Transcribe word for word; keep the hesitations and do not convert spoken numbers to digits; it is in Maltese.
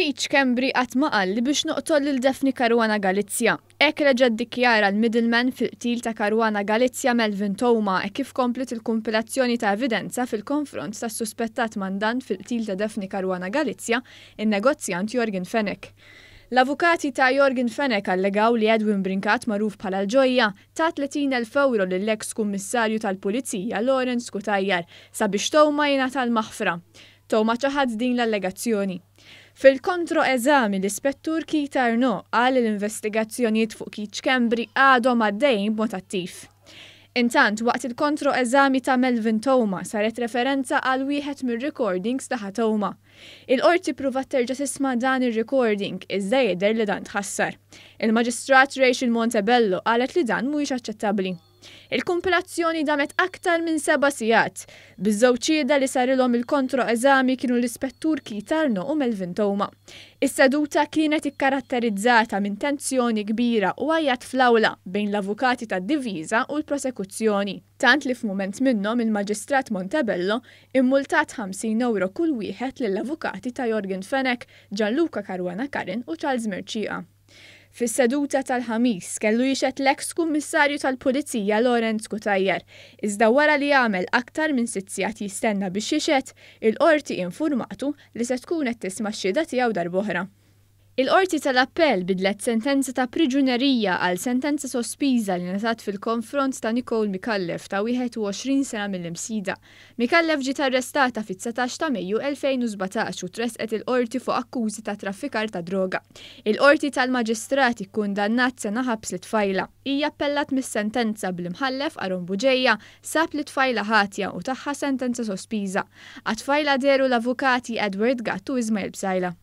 Keith Schembri qatt ma qalli biex noqtol lil Daphne Caruana Galizia. Hekk reġa' ddikjara l-middleman fil-qtil ta' Caruana Galizia, Melvin Theuma, e kif komplet il-kumpilazzjoni ta' evidenza fil-konfront tas-suspettat mandant fil-qtil ta' Daphne Caruana Galizia, in-negozjant Yorgen Fenech. L-avukati ta' Yorgen Fenech allegaw li Edwin Brincat, magħruf bħala l-Ġojja, ta tletin elf euro lill-ex kummissarju tal-Pulizija Lawrence Cutajar sabiex Theuma jingħata l-maħfra. Theuma ċaħad din l-allegazzjoni. Fil-kontro-eżami, l-ispettur Keith Arnaud qal l-investigazzjonijiet fuq Keith Schembri għadhom għaddejjin b'mod attiv. Intant, waqt il-kontro-eżami ta' Melvin Theuma saret referenza għal wieħed mir-recordings ta' Theuma. Il-qorti pruvat terġa' tisma' dan ir-recording, iżda jidher li dan tħassar. Il-Maġistrat Rachel Montebello qalet li dan mhuwiex aċċettabbli. Il-kumpilazzjoni damet aktar minn seba' sigħat. Biż-żewġ xhieda li sarilhom il-kontro-eżami kienu l-ispettur Keith Arnaud u Melvin Theuma. Is-seduta kienet ikkaratterizzata minn tensjoni kbira u għajat fl-awla bejn l-avukati tad-difiża u l-prosekuzzjoni. Tant li f'mument minnhom il-Maġistrat Montebello immultat ħamsin euro kull wieħed lill-avukati ta' Yorgen Fenech, Gianluca Caruana Curran u Charles Mercieca. Fis-seduta tal-Ħamis kellu jixhed l-ex kummissarju tal-Pulizija Lawrence Cutajar. Iżda wara li għamel aktar minn sitt sigħat jistenna biex jixhed, il-qorti informatu li se tkun qed tisma' x-xhieda tiegħu darb'oħra. Il-Qorti tal-Appell bidlet sentenza ta' priġunerija għal sentenza sospiża li ngħatat fil-konfront ta' Nicole Micallef ta' wieħed u għoxrin sena mill-Imsida. Micallef ġiet arrestata fit-dsatax ta' Mejju elfejn u sbatax u tresqet il-qorti fuq akkużi ta' traffikar ta' droga. Il-Qorti tal-Maġistrati kundannat sena ħabs lit-tfajla. Hija appellat mis-sentenza, bl-imħallef Aaron Bugeja sab lit-tfajla ħatja u taha sentenza sospiża. Għat-tfajla dehru l-avukati Edward Gatt u Ismail Psaila.